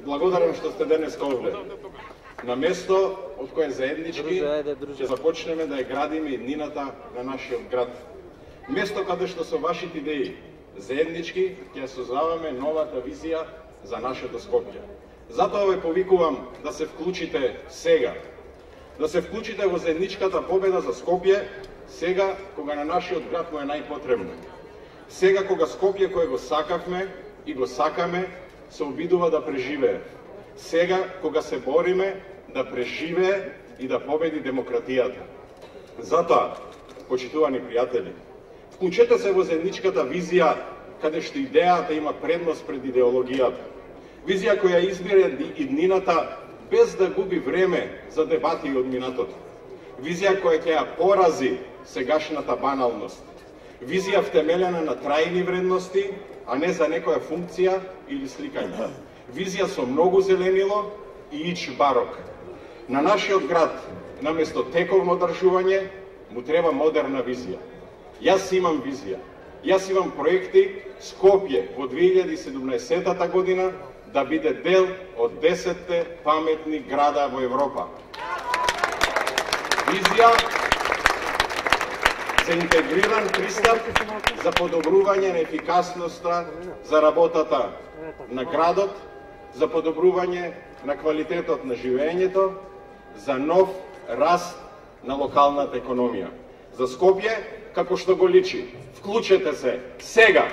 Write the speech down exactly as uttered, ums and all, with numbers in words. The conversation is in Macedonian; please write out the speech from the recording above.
Благодарам што сте денес овде. На место од кое заеднички ќе започнеме да ја градиме иднината на нашиот град. Место каде што со вашите идеи заеднички ќе создаваме новата визија за нашето Скопје. Затоа ве повикувам да се вклучите сега. Да се вклучите во заедничката победа за Скопје сега кога на нашиот град му е најпотребно. Сега кога Скопје кое го сакавме и го сакаме се обидува да преживее. Сега кога се бориме да преживее и да победи демократијата. Затоа, почитувани пријатели, вклучете се во заедничката визија каде што идејата има предност пред идеологијата. Визија која избира иднината без да губи време за дебати од минатото. Визија која ќе ја порази сегашната баналност. Визија втемелена на трајни вредности, а не за некоја функција или сликање. Визија со многу зеленило и ич барок. На нашиот град, наместо тековно одржување, му треба модерна визија. Јас имам визија. Јас имам проекти Скопје во две илјади и седумнаесетта година да биде дел од десетте паметни града во Европа. Визија за интегриран пристап за подобрување на ефикасноста за работата на градот, за подобрување на квалитетот на живеењето, за нов раст на локалната економија. За Скопје, како што го личи, вклучете се сега!